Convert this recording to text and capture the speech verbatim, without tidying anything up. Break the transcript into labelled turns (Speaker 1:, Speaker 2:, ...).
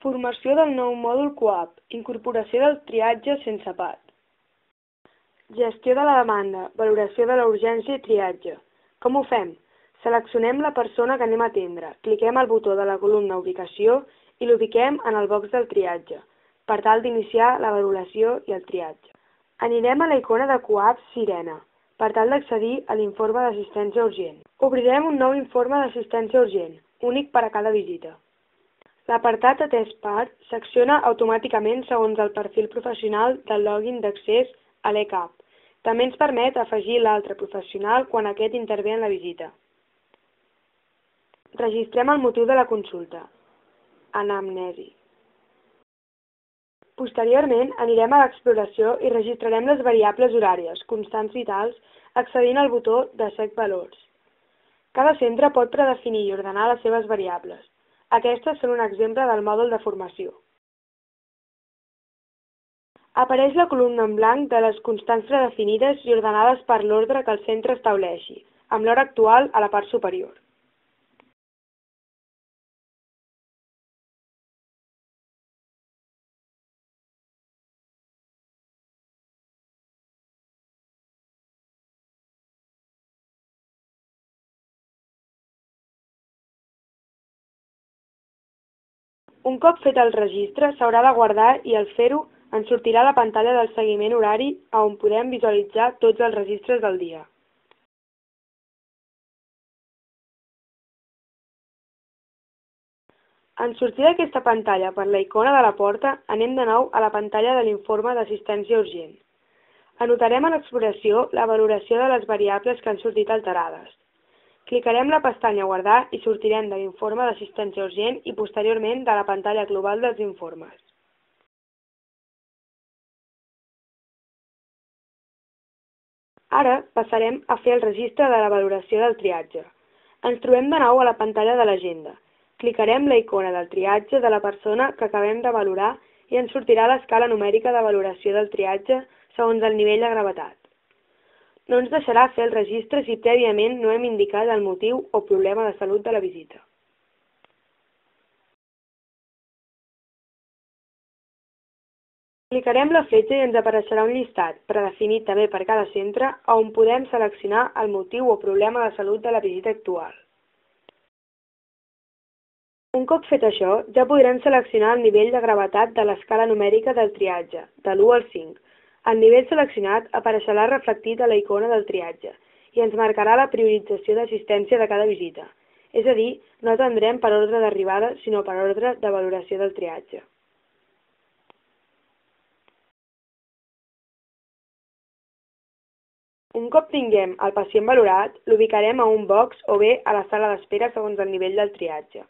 Speaker 1: Formació del nou mòdul COAP, incorporació del triatge sense P A T. Gestió de la demanda, valoració de la urgència i triatge. Com ho fem? Seleccionem la persona que anem a atendre, cliquem al botó de la columna Ubicació i l'ubiquem en el box del triatge, per tal d'iniciar la valoració i el triatge. Anirem a la icona de COAP Sirena, per tal d'accedir a l'informe d'assistència urgent. Obrirem un nou informe d'assistència urgent, únic per a cada visita. L'apartat Atès per s'acciona automàticament segons el perfil professional del login d'accés a l'E C A P. També ens permet afegir l'altre professional quan aquest intervé en la visita. Registrem el motiu de la consulta. Anamnesi. Posteriorment, anirem a l'exploració i registrarem les variables horàries, constants vitals, accedint al botó de Sec valors. Cada centre pot predefinir i ordenar les seves variables. Aquestes són un exemple del mòdul de formació. Apareix la columna en blanc de les constants predefinides i ordenades per l'ordre que el centre estableixi, amb l'hora actual a la part superior. Un cop fet el registre, s'haurà de guardar i al fer-ho ens sortirà la pantalla del seguiment horari on podem visualitzar tots els registres del dia. En sortir d'aquesta pantalla per la icona de la porta, anem de nou a la pantalla de l'informe d'assistència urgent. Anotarem a l'exploració la valoració de les variables que han sortit alterades. Clicarem la pestanya Guardar i sortirem de l'informe d'assistència urgent i posteriorment de la pantalla global dels informes. Ara passarem a fer el registre de la valoració del triatge. Ens trobem de nou a la pantalla de l'agenda. Clicarem la icona del triatge de la persona que acabem de valorar i ens sortirà l'escala numèrica de valoració del triatge segons el nivell de gravetat. No ens deixarà fer el registre si prèviament no hem indicat el motiu o problema de salut de la visita. Clicarem la fletxa i ens apareixerà un llistat, predefinit també per cada centre, on podem seleccionar el motiu o problema de salut de la visita actual. Un cop fet això, ja podrem seleccionar el nivell de gravetat de l'escala numèrica del triatge, de l'u al cinc. El nivell seleccionat apareixerà reflectit a la icona del triatge i ens marcarà la priorització d'assistència de cada visita. És a dir, no atendrem per ordre d'arribada, sinó per ordre de valoració del triatge. Un cop tinguem el pacient valorat, l'ubicarem a un box o bé a la sala d'espera segons el nivell del triatge.